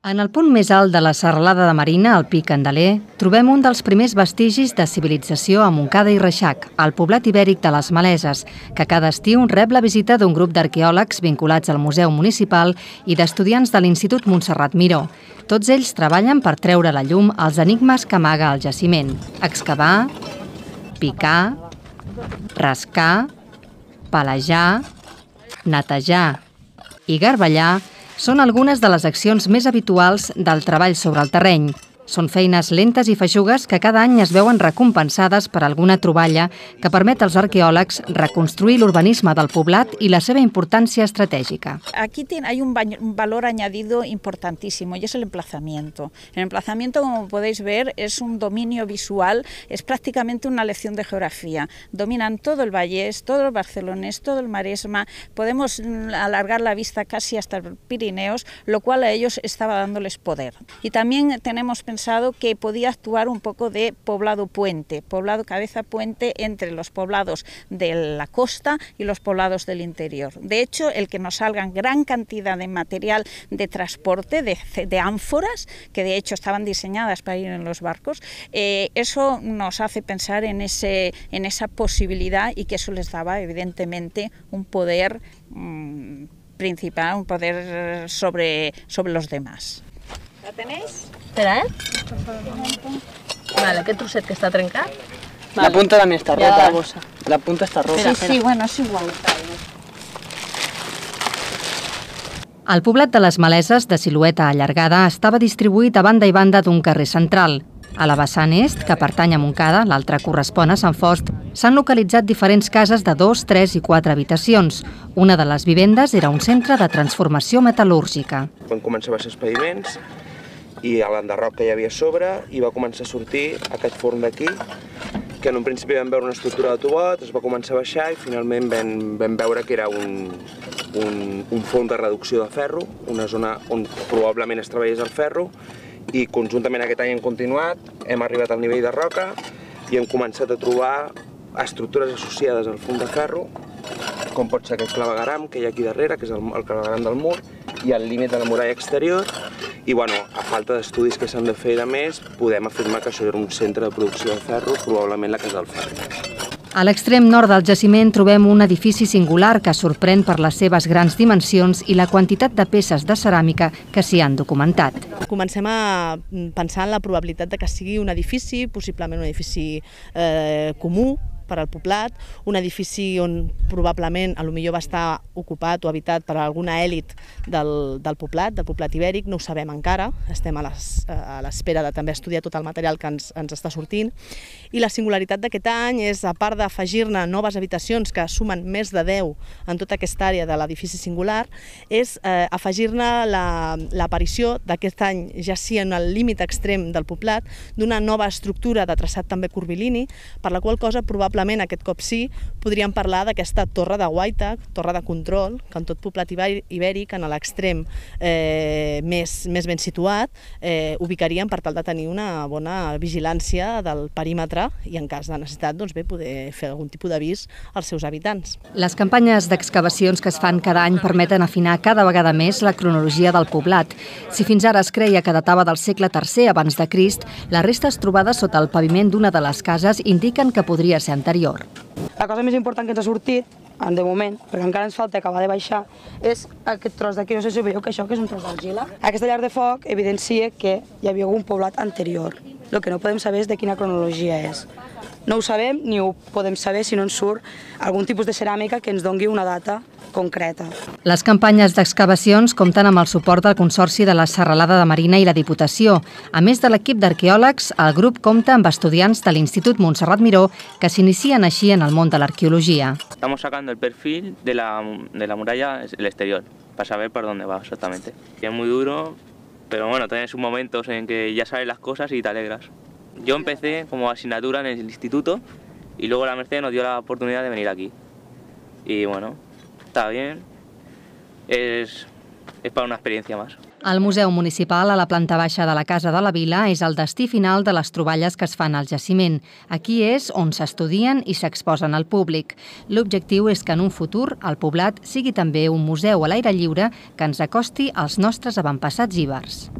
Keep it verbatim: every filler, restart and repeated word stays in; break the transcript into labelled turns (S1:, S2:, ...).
S1: En el punt més alt de la serralada de Marina, al Pic Candeler, trobem un dels primers vestigis de civilització a Montcada i Reixac, el poblat ibèric de les Maleses, que cada estiu rep la visita d'un grup d'arqueòlegs vinculats al Museu Municipal i d'estudiants de l'Institut Montserrat Miró. Tots ells treballen per treure a la llum els enigmes que amaga el jaciment. Excavar, picar, rascar, palejar, netejar i garbellar són algunes de les accions més habituals del treball sobre el terreny. Són feines lentes i feixugues que cada any es veuen recompensades per alguna troballa que permet als arqueòlegs reconstruir l'urbanisme del poblat i la seva importància estratègica.
S2: Aquí hay un valor añadido importantísimo y es el emplazamiento. El emplazamiento, como podéis ver, es un dominio visual, es prácticamente una lección de geografía. Dominan todo el Vallès, todo el Barcelonés, todo el Maresma, podemos alargar la vista casi hasta el Pirineos, lo cual a ellos estaba dándoles poder. Y también tenemos pensado que podía actuar un poco de poblado puente, poblado cabeza puente entre los poblados de la costa y los poblados del interior. De hecho, el que nos salgan gran cantidad de material de transporte, de, de ánforas, que de hecho estaban diseñadas para ir en los barcos, eh, eso nos hace pensar en, ese, en esa posibilidad y que eso les daba evidentemente un poder mmm, principal, un poder sobre, sobre los demás. ¿La tenéis?
S3: Espera, eh? Vale, aquest trosset que està trencat.
S4: Vale. La punta també està rota.
S3: Ja la,
S4: la punta està rota.
S2: Sí, sí, bueno, és igual.
S1: El poblat de les Maleses, de silueta allargada, estava distribuït a banda i banda d'un carrer central. A la vessant est, que pertany a Montcada, l'altra correspon a Sant Fost, s'han localitzat diferents cases de dos, tres i quatre habitacions. Una de les vivendes era un centre de transformació metal·lúrgica.
S5: Van començar a baixar els paviments i l'enderroc que hi havia a sobre i va començar a sortir aquest forn d'aquí, que en un principi vam veure una estructura de tubot, es va començar a baixar i finalment vam, vam veure que era un, un, un forn de reducció de ferro, una zona on probablement es treballés el ferro, i conjuntament aquest any hem continuat, hem arribat al nivell de roca i hem començat a trobar estructures associades al forn de ferro, com pot ser aquest clavegaram que hi ha aquí darrere, que és el, el clavegaram del mur, i el límit de la muralla exterior, i bueno, a falta d'estudis que s'han de fer de més, podem afirmar que això era un centre de producció de ferro, probablement la Casa del Ferro.
S1: A l'extrem nord del jaciment trobem un edifici singular que sorprèn per les seves grans dimensions i la quantitat de peces de ceràmica que s'hi han documentat.
S3: Comencem a pensar en la probabilitat de que sigui un edifici, possiblement un edifici eh, comú, per al poblat, un edifici on probablement potser va estar ocupat o habitat per alguna èlit del, del poblat, del poblat ibèric, no ho sabem encara, estem a l'espera de també estudiar tot el material que ens, ens està sortint. I la singularitat d'aquest any és, a part d'afegir-ne noves habitacions que sumen més de deu en tota aquesta àrea de l'edifici singular, és eh, afegir-ne l'aparició la, d'aquest any, ja sí en el límit extrem del poblat, d'una nova estructura de traçat també curvilini, per la qual cosa probablement aquest cop sí, podríem parlar d'aquesta torre de guaita, torre de control, que en tot poblat ibèric, en l'extrem eh, més, més ben situat, eh, ubicaríem per tal de tenir una bona vigilància del perímetre i en cas de necessitat doncs bé, poder fer algun tipus d'avís als seus habitants.
S1: Les campanyes d'excavacions que es fan cada any permeten afinar cada vegada més la cronologia del poblat. Si fins ara es creia que datava del segle tercer abans de Crist, les restes trobades sota el paviment d'una de les cases indiquen que podria ser anterior.
S4: La cosa més important que ens ha sortit, de moment, perquè encara ens falta acabar de baixar, és aquest tros d'aquí. No sé si veieu que això que és un tros d'argila. Aquesta llar de foc evidencia que hi havia algun poblat anterior. El que no podem saber és de quina cronologia és. No ho sabem ni ho podem saber si no ens surt algun tipus de ceràmica que ens doni una data concreta.
S1: Les campanyes d'excavacions compten amb el suport del Consorci de la Serralada de Marina i la Diputació. A més de l'equip d'arqueòlegs, el grup compta amb estudiants de l'Institut Montserrat Miró que s'inicien així en el món de l'arqueologia.
S6: Estamos sacando el perfil de la, de la muralla el exterior, para saber por dónde va exactamente. Es muy duro, pero bueno, tienes momentos en que ya sabes las cosas y te alegras. Yo empecé como asignatura en el instituto y luego la Merced nos dio la oportunidad de venir aquí. Y bueno, está bien, es, es para una experiencia más.
S1: El Museu Municipal a la planta baixa de la Casa de la Vila és el destí final de les troballes que es fan al jaciment. Aquí és on s'estudien i s'exposen al públic. L'objectiu és que en un futur el poblat sigui també un museu a l'aire lliure que ens acosti als nostres avantpassats ibers.